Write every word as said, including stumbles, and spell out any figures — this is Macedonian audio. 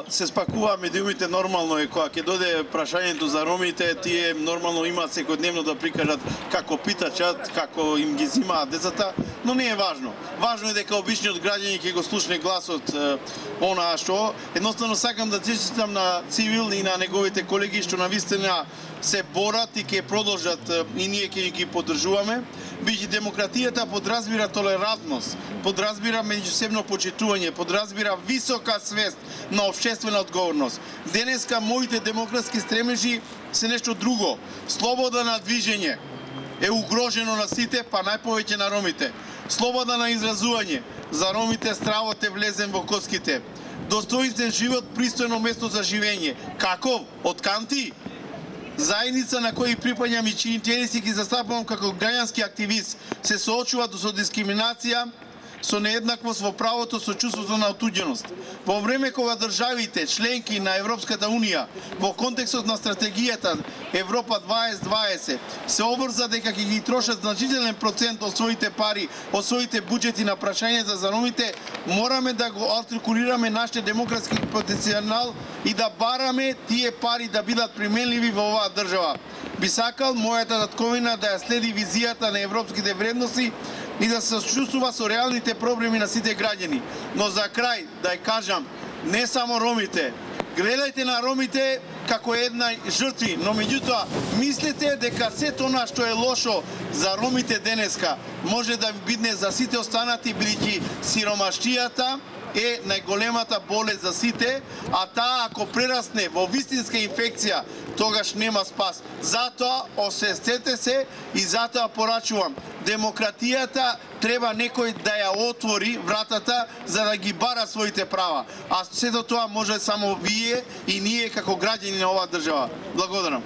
се спакува медиумите нормално е кога ќе дојде прашањето за ромите, тие нормално имаат секојдневно да прикажат како питачат, како им ги зимаат децата, но не е важно. Важно е дека обичниот граѓани ќе го слушне гласот онаа што. Едноставно сакам да честитам на Цивил и на неговите колеги што навистина се борат и ќе продолжат и ние ќе ги поддржуваме. Бидејќи демократијата подразбира толерантност, подразбира меѓусебно почитување, подразбира висока свест на општествена одговорност. Денеска моите демократски стремежи се нешто друго. Слобода на движење е угрожено на сите, па најповеќе на ромите. Слобода на изразување, за ромите стравот е влезен во коските. Достоинствен живот, пристојно место за живење. Каков? Од канти? Заедница на кој припаѓам и чии интереси ги застапувам како граѓански активист, се соочува со дискриминација, со нееднаквост во правото, со чувството на отуѓеност. Во време кога државите, членки на Европската Унија, во контекстот на стратегијата Европа дваесет дваесет, се обрза дека ќе ги трошат значителен процент од своите пари, од своите буџети на прашањата за ромите, мораме да го артикулираме нашите демократски потенцијал и да бараме тие пари да бидат применливи во оваа држава. Би сакал мојата татковина да ја следи визијата на европските вредности и да се сочувствува со реалните проблеми на сите граѓани. Но за крај да ја кажам, не само ромите, гледајте на ромите како една жртви, но меѓутоа мислете дека сето она што е лошо за ромите денеска може да бидне за сите останати, бидејќи сиромаштијата е најголемата болест за сите, а таа ако прерасне во вистинска инфекција, тогаш нема спас. Затоа освестете се и затоа порачувам. Демократијата треба некој да ја отвори вратата за да ги бара своите права. А сето тоа може само вие и ние како граѓани на оваа држава. Благодарам.